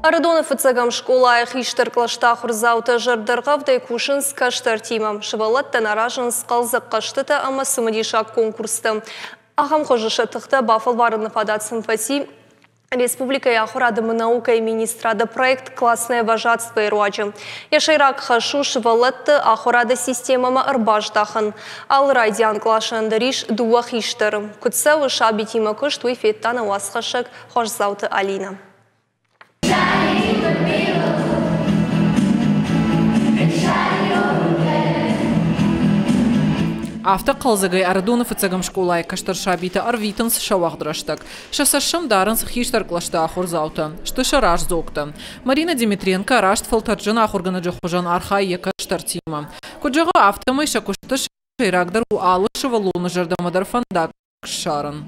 Ӕрыдоны фыццӕгӕм скъолайы хистӕр кълӕсты ахуырдзаутӕ зӕрдӕргъӕвдӕй кусынц кӕстӕртимӕ. Сывӕллӕттӕн аразынц хъӕлдзӕг хъӕзтытӕ ӕмӕ цымыдисаг конкурстӕ. Ахӕм хуызы сӕ тыхтӕ бафӕлварыны фадат сын фӕци республикӕйы ахуырады ӕмӕ наукӕйы министрады проект «Классное вожатство»-йы руаджы. Йӕ сӕйраг хӕс у сывӕллӕтты ахуырады системӕмӕ ӕрбаздахын. Алы райдиан къласӕн дӕр ис дыууӕ хистӕры. Куыд цӕуы сабитимӕ куыст, уый федта нӕ уацхӕссӕг Хуасдзауты Алинӕ. Афтӕ хъӕлдзӕгӕй Ӕрыдоны фыццӕгӕм скъолайы кӕстӕр сабитӕ ӕрвитынц сӕ уӕгъд рӕстӕг. Сӕ цӕссым дарынц хистӕр кълӕсты ахуырдзаутӕ, сты сӕ раздзогтӕ. Марина Димитренко раст фӕлтӕрджын ахуыргӕнӕджы хуызӕн архайы йӕ кӕстӕртимӕ. Куыд зӕгъы, афтӕмӕй сӕ куысты сӕйрагдӕр у алы сывӕллоны зӕрдӕмӕ дӕр фӕндаг ссарын.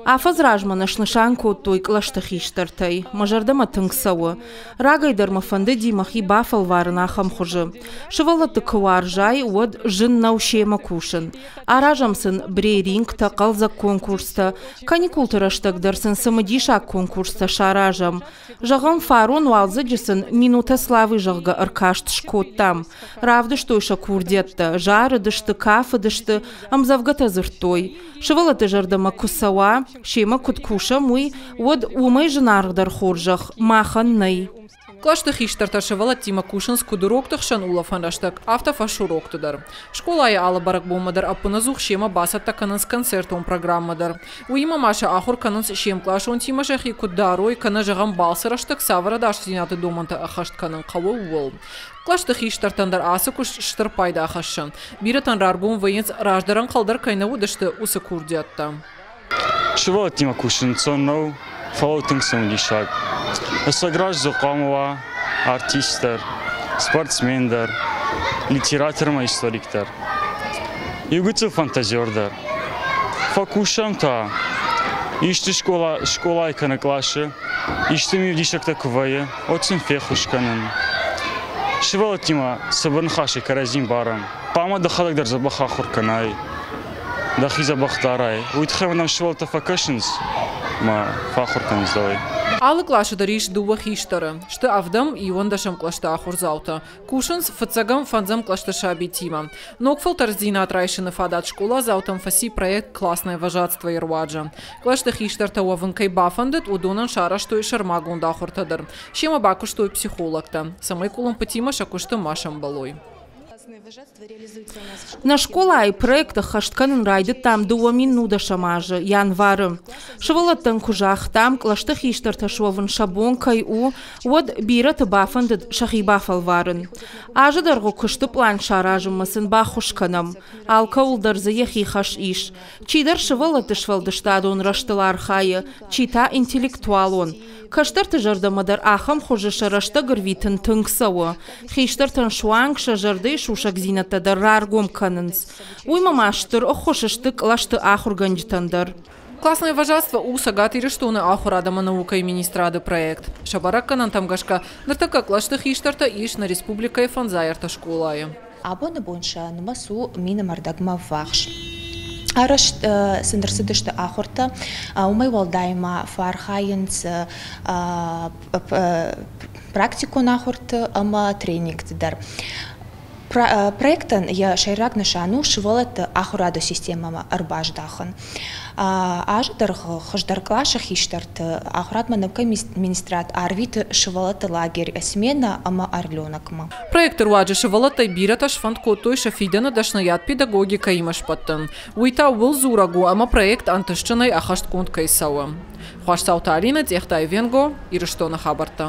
Афӕдз размӕ нӕ снысан кодтой кълӕсты хистӕртӕй. Мӕ зӕрдӕмӕ тынг цӕуы. Рагӕй дӕр мӕ фӕндыди мӕхи бафӕлварын ахӕм хуызы. Сывӕллӕтты куы уарзай, уӕд зын нӕу семӕ кусын. Аразӕм сын брейрингтӕ, хъӕлдзӕг конкурстӕ. Каникулты рӕстӕг дӕр сын цымыдисаг конкурстӕ саразӕм. Зӕгъӕм, фарон уалдзӕджы сын «Минута славы», зӕгъгӕ, ӕркаст скодтам. Равдыстой сӕ курдиӕттӕ, зарыдысты, кафыдысты, ӕмдзӕвгӕтӕ дзырдтой. Сывӕллӕтты зӕрдӕмӕ куы цӕуа, семӕ куыд кусӕм, уый, уӕд уымӕй зынаргъдӕр хорзӕх махӕн нӕй. Кълӕсты хистӕртӕ сывӕллӕттимӕ кусынц куыд урокты хсӕн улӕфӕн рӕстӕг, афтӕ фӕсурокты дӕр. Скъолайы алы бӕрӕгбонмӕ дӕр ӕппынӕдзух семӕ бацӕттӕ кӕнынц концертон программӕ дӕр. Уыимӕ ма сӕ ахуыр кӕнынц се мкъласонтимӕ сӕхи куыд дарой, кӕнӕ, зӕгъӕм, балцы рӕстӕг цавӕр ӕдасдзинады домӕнтӕ ӕххӕст кӕнын хъӕуы, ууыл. Кълӕсты хистӕртӕн дӕр ацы куыст стыр пайда хӕссы. Бирӕтӕн раргом вӕййынц, раздӕр ӕнхъӕл дӕр кӕй нӕ уыдысты, уыцы курдиӕттӕ. Сывӕллӕттимӕ кусын ӕнцон нӕу, фӕлӕ тынг цымыдисаг. Ӕцӕг раздзог хъуамӕ уа артист дӕр, спортсмен дӕр, литератор ӕмӕ историк дӕр. Иу гыццыл фантазер дӕр. Фӕкусӕм та, исты скъола, скъолайы кӕнӕ къласы исты мивдисӕгтӕ куы вӕййы, уӕд сын феххуыс кӕнын. Сывӕллӕттимӕ цыбыр ныхасӕй кӕрӕдзи мбарӕм. Хъуамӕ дӕхӕдӕг дӕр дзӕбӕх ахуыр кӕнай, дӕхи дзӕбӕх дарай. Уый тыххӕй мӕм сывӕллӕттӕ фӕкӕсынц ӕмӕ фӕахуыр кӕнынц дӕуӕй. Алы къласы дӕр ис дыууӕ хистӕры. Сты ӕвдӕм, иуӕндӕсӕм кълӕсты ахуырдзаутӕ. Кусынц фыццӕгӕм, фӕндзӕм кълӕсты сабитимӕ. Ног фӕлтӕрддзинад райсыны фадат скъоладзаутӕм фӕци проект «Классное вожатство»-йы руаджы. Кълӕсты хистӕртӕ уӕвын кӕй бафӕндыд, уыдонӕн сарӕзтой сӕрмагонд ахуыртӕ дӕр. Семӕ бакуыстой психологтӕ, цӕмӕй къуылымпытимӕ сӕ куысты ма сӕмбӕлой. Нӕ скъолайы проект ӕххӕст кӕнын райдыдтам 2019 азы январы. Сывӕллӕттӕн куы загътам, кълӕсты хистӕртӕ суӕвын сӕ бон кӕй у, уӕд бирӕты бафӕндыд сӕхи бафӕлварын. Азы дӕргъы куысты пълан саразынмӕ сын баххуыс кӕнӕм. Алкӕуыл дӕр дзы йӕхи хӕс ис. Чидӕр сывӕллӕтты сфӕлдыстадон рӕзтыл архайы, чи та интеллектуалон. Кӕстӕрты зӕрдӕмӕ дӕр ахӕм хуызы сӕ рӕстӕг ӕрвитын тынг цӕуы. Хистӕртӕн суанг сӕ зӕрдӕйы сусӕгдзинӕдтӕ дӕр раргом кӕнынц. Уыимӕ ма стыр ӕххуыс сты кълӕсты ахуыргӕнджытӕн дӕр. Классное вожатство у Цӕгат Ирыстоны ахуырад ӕмӕ наукӕйы министрады проект. Сӕ бӕрӕггӕнӕнтӕм гӕсгӕ, ныртӕккӕ кълӕсты хистӕртӕ ис нӕ республикӕйы фӕндзай ӕртӕ скъолайы. Абоны бон сӕ нымӕц у мины ӕрдӕгмӕ ввахс. Арӕзт сын ӕрцыдысты ахуыртӕ, уымӕй уӕлдай ма фӕархайынц практикон ахуырты ӕмӕ тренингты дӕр. Проектӕн йӕ сӕйраг нысан у сывӕллӕтты ахуырады системӕмӕ ӕрбаздахын. Азы дӕргъы хуыздӕр къласы хистӕрты ахуырадмӕ наукӕйы министрад арвиты сывӕллӕтты лагерь «Смена» ӕмӕ «Орленок»-мӕ. Проекты руаджы сывӕллӕттӕй бирӕтӕ сфӕнд кодтой сӕ фидӕны дӕсныйад педагогикӕимӕ сбӕттын. Уый та ууыл дзурӕг у, ӕмӕ проект ӕнтыстджынӕй ӕххӕстгонд кӕй цӕуы. Хуасдзауты Алинӕ, Цъехтайы Венго, Ирыстоны хабӕрттӕ.